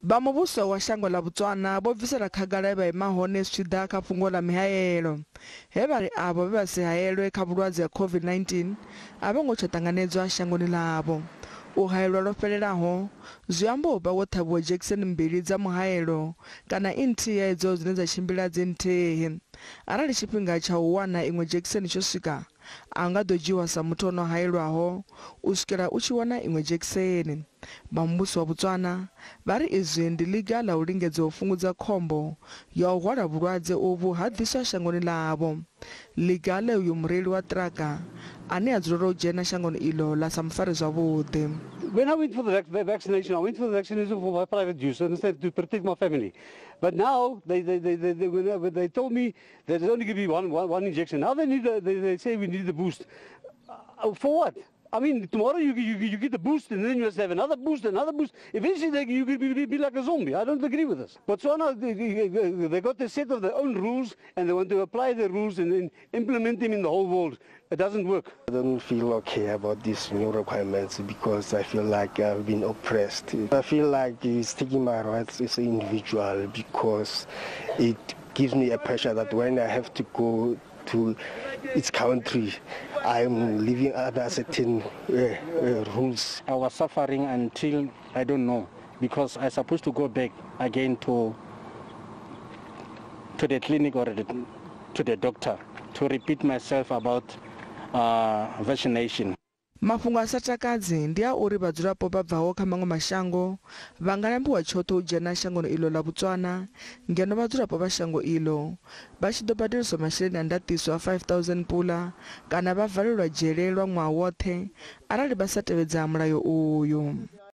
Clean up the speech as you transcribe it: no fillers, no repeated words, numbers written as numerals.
Vha muvhuso wa shango ḽa Botswana vho bvisela khagala he vha ima hone zwi tshi ḓa kha fhungo ḽa mihaelo, he vha ri avho vhe vha si haelwe kha vhulwadze ha COVID-19 a vho ngo tsha ṱanganedzwa shangoni ḽavho. U haelwa lwo fhelelaho zwi amba u vha wo ṱhavhiwa dzhekiseni mbili dza muhaelo kana i nthihi ya idzo dzine dza tshimbila dzi nthihi. Arali tshifhinga tsha u wana iṅwe dzhekiseni tsho swika, a u nga ḓo dzhiiwa sa muthu o no haelwaho u swikela u tshi wana iṅwe dzhekiseni. Vha muvhuso wa Botswana vha ri izwi ndi ḽiga ḽa u lingedza u fhungudza khombo ya u hwala vhulwadze uvhu ha ḓiswa shangoni ḽavho. Ḽiga ḽe uyu mureili wa ṱiraka ane a dzulela u dzhena shangoni iḽo ḽa sa mu fare zwavhuḓi. When I went for the vaccination, I went for the vaccination for my private use instead to protect my family. But now they told me that there's only going to be one injection. Now they say we need the boost. For what? I mean, tomorrow you get the boost, and then you must have another boost, another boost. Eventually, you could be like a zombie. I don't agree with this. Botswana, they got a set of their own rules, and they want to apply the rules and then implement them in the whole world. It doesn't work. I don't feel okay about these new requirements because I feel like I've been oppressed. I feel like it's taking my rights as an individual because it gives me a pressure that when I have to go to its country, I'm living under certain rules. I was suffering until, I don't know, because I supposed to go back again to the clinic or to the doctor to repeat myself about vaccination. Mafhungo a sa takadzi ndi a uri vhadzulapo vha bvaho kha maṅwe mashango vha nga lambiwa tshoṱhe u dzhena shangoni iḽo ḽa Botswana, ngeno vhadzulapo vha shango iḽo vha tshi ḓo badeliswa masheleni a ndaṱiso a 5000 pula kana vha valelwa dzhele lwa ṅwaha woṱhe arali vha sa tevhedza mulayo uyu.